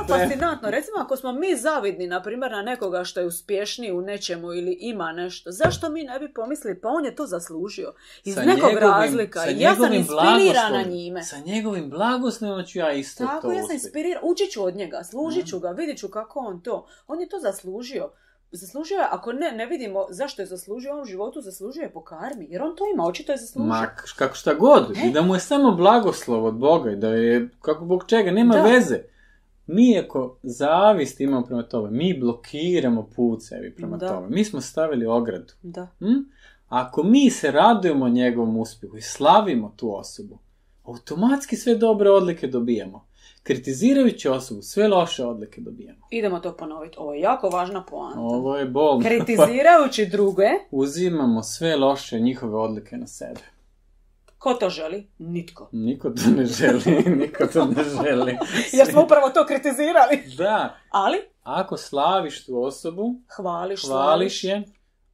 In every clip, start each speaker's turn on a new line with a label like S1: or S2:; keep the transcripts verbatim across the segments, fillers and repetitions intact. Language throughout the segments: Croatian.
S1: stvarno fascinantno. Recimo, ako smo mi zavidni, na primjer, na nekoga što je uspješniji u nečemu ili ima nešto, zašto mi ne bi pomislili, pa on je to zaslužio. Iz
S2: sa
S1: nekog
S2: njegovim,
S1: razlika. I ja sam inspirirana njime.
S2: Sa njegovim blagoslovom ću ja isto
S1: Tako,
S2: to
S1: ja sam inspirirana. Učit ću od njega, služit ću
S2: mm.
S1: ga, vidit ću kako on to. On je to zaslužio. Zaslužio je, ako ne, ne vidimo zašto je zaslužio, on u životu zaslužuje po karmi, jer on to ima, očito je zaslužio.
S2: Ma, kako šta god,
S1: e?
S2: da mu je samo blagoslov od Boga i da je, kako Bog čega, nema da. veze. Mi ako zavist imamo prema tome, mi blokiramo put sebi prema da. tome. Mi smo stavili ogradu.
S1: Da.
S2: Hm? Ako mi se radujemo njegovom uspjehu i slavimo tu osobu, automatski sve dobre odlike dobijamo. Kritizirajući osobu, sve loše odlike dobijamo.
S1: Idemo to ponoviti. Ovo je jako važna poanta.
S2: Ovo je bolno.
S1: Kritizirajući druge,
S2: uzimamo sve loše njihove odlike na sebe.
S1: Ko to želi? Nitko.
S2: Niko to ne želi. Niko to ne želi.
S1: Jer smo upravo to kritizirali.
S2: Da.
S1: Ali?
S2: Ako slaviš tu osobu,
S1: hvališ,
S2: hvališ je,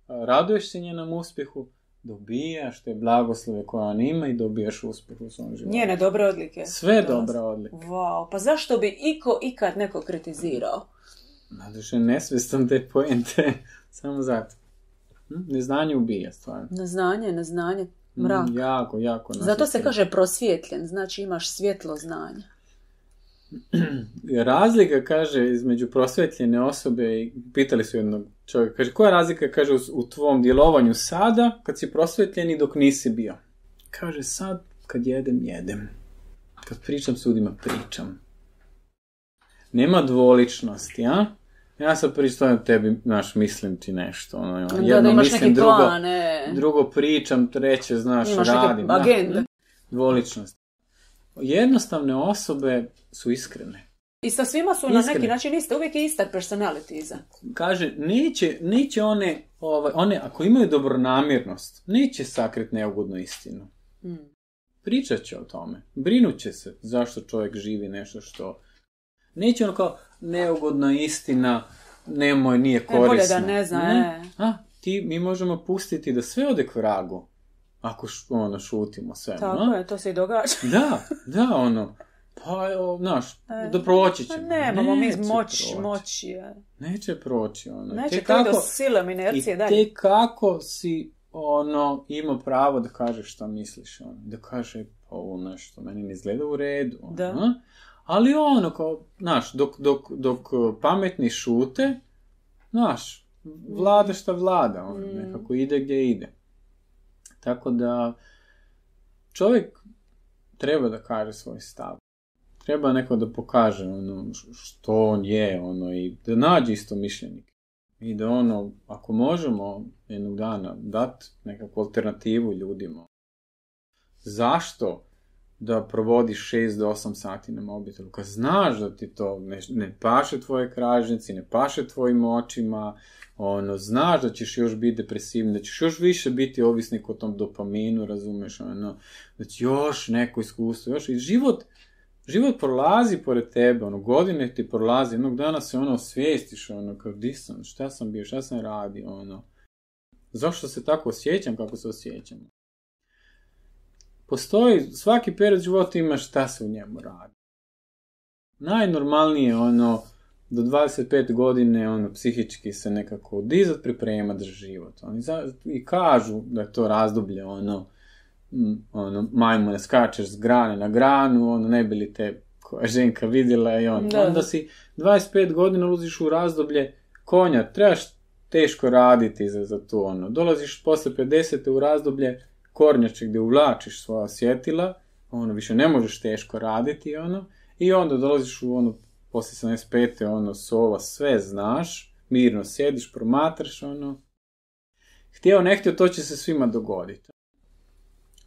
S2: raduješ se njenom uspjehu, dobijaš te blagoslove koje on ima i dobijaš uspjeh u svom životu.
S1: Njene dobre odlike.
S2: Sve dobre odlike.
S1: Wow, pa zašto bi iko ikad neko kritizirao?
S2: Zato što je nesvjestan te poente. Samo zato. Hm? Neznanje ubija stvarno.
S1: Neznanje, neznanje, mrak.
S2: Mm, jako, jako.
S1: Zato se kaže prosvjetljen, znači imaš svjetlo znanja.
S2: Razlika, kaže, između prosvjetljene osobe i pitali su jednog čovjeka, kaže, koja je razlika, kaže, u, u tvom djelovanju sada, kad si prosvjetljen i dok nisi bio? Kaže, sad, kad jedem, jedem. Kad pričam s ljudima, pričam. Nema dvoličnosti, a? Ja sad pričam tebi, znaš, mislim ti nešto. Ono, jedno
S1: da, da imaš
S2: mislim,
S1: neki
S2: drugo,
S1: plan, ne.
S2: drugo pričam, treće, znaš,
S1: imaš
S2: radim.
S1: Imaš neke agende.
S2: Dvoličnost. Jednostavne osobe su iskrene.
S1: I sa svima su iskrene. Na neki način iste, uvijek je ista personality iza.
S2: Kaže, neće, neće one, ovaj, one, ako imaju dobronamjernost, neće sakriti neugodnu istinu. Hmm. Pričat će o tome. Brinut će se zašto čovjek živi nešto što... Neće ono kao neugodna istina, nemoj, nije korisna.
S1: E, bolje da ne zna, ne.
S2: A, ti, mi možemo pustiti da sve ode k vragu. Ako š, ono, šutimo sve.
S1: Tako no? je, to se i događa.
S2: Da, da, ono, pa, znaš, e, da proći ćemo.
S1: Nemamo mi moć, moći. Je.
S2: Neće proći, ono.
S1: Neće to do silom inercije, dalje.
S2: I te kako si, ono, imao pravo da kažeš šta misliš, ono, da kaže, pa ovo nešto, meni ne izgleda u redu, ono,
S1: da.
S2: Ali ono, kao, znaš, dok, dok, dok pametni šute, znaš, vlada šta vlada, ono, mm. nekako ide gdje ide. Tako da čovjek treba da kaže svoj stav. Treba neko da pokaže ono što on je, ono, i da nađe isto mišljenik. I da ono, ako možemo jednog dana dati nekakvu alternativu ljudima. Zašto da provodiš šest do osam sati na mobitelu? Kad znaš da ti to ne, ne paše tvoje kražnici, ne paše tvojim očima, ono, znaš da ćeš još biti depresivni, da ćeš još više biti ovisnik o tom dopaminu, razumeš, ono, da će još neko iskustvo, još i život, život prolazi pored tebe, ono, godine ti prolazi, jednog dana se ono osvijestiš, ono, kao di sam, šta sam bio, šta sam radio, ono, zašto se tako osjećam kako se osjećam. Postoji, svaki period života ima šta se u njemu radi. Najnormalnije, ono, do dvadeset pete godine, ono, psihički se nekako dizat, pripremat za život. Oni za, i kažu da je to razdoblje, ono, m, ono, majmune, skačeš s grane na granu, ono, ne bi li te koja ženka vidjela i ono. Da. Onda si dvadeset pet godina ulaziš u razdoblje konja, trebaš teško raditi za, za to, ono. Dolaziš posle pedesete u razdoblje kornjače gdje uvlačiš svoja osjetila, ono, više ne možeš teško raditi, ono, i onda dolaziš u, ono, poslije sedamdeset pete ono, sova, sve znaš, mirno sjediš, promatraš, ono, htio, ne htio, to će se svima dogoditi.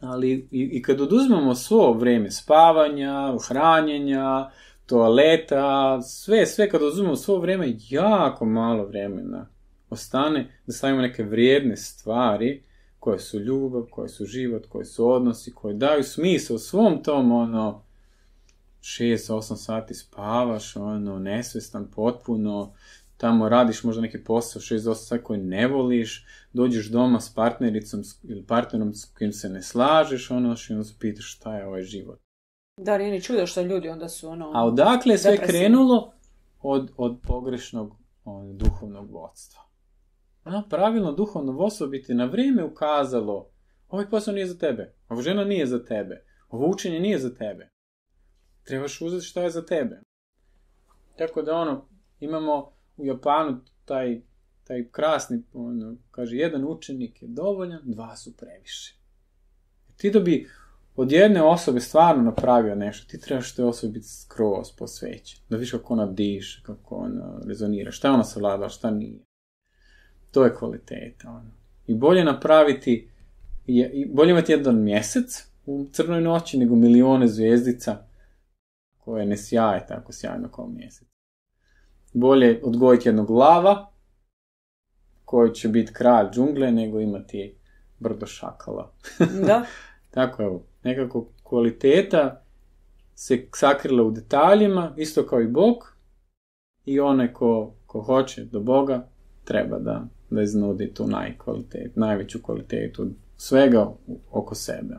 S2: Ali i, i kad oduzmemo svo vrijeme spavanja, hranjenja, toaleta, sve, sve kad oduzmemo svo vrijeme, jako malo vremena ostane da stavimo neke vrijedne stvari koje su ljubav, koje su život, koje su odnosi, koje daju smisao svom tom, ono, šest osam sati spavaš, ono, nesvjestan potpuno, tamo radiš možda neki posao šest do osam sati koji ne voliš, dođeš doma s partnericom ili partnerom s kojim se ne slažeš, ono, i onda se pitaš šta je ovaj život.
S1: Da, nije ni čudo što ljudi onda su, ono...
S2: A odakle je sve krenulo? od, od pogrešnog on, duhovnog vodstva. Ono, pravilno duhovno vodstvo bi ti na vrijeme ukazalo, ovaj posao nije za tebe, ova žena nije za tebe, ovo učenje nije za tebe. Trebaš uzeti šta je za tebe. Tako da ono, imamo u Japanu taj, taj krasni, ono, kaže, jedan učenik je dovoljan, dva su previše. Ti da bi od jedne osobe stvarno napravio nešto, ti trebaš toj osobi biti skroz posvećen. Da vidiš kako ona diše, kako ona rezonira, šta ona savlada, šta nije. To je kvaliteta. Ono. I bolje napraviti, i bolje imati jedan mjesec u crnoj noći nego milione zvijezdica koje ne sjaje tako sjajno kao mjesec. Bolje odgojiti jednog lava koji će biti kralj džungle nego imati brdo šakala.
S1: Da.
S2: Tako evo, nekako kvaliteta se sakrila u detaljima, isto kao i Bog, i onaj ko, ko hoće do Boga treba da, da iznudi tu najkvalitet, najveću kvalitetu svega oko sebe.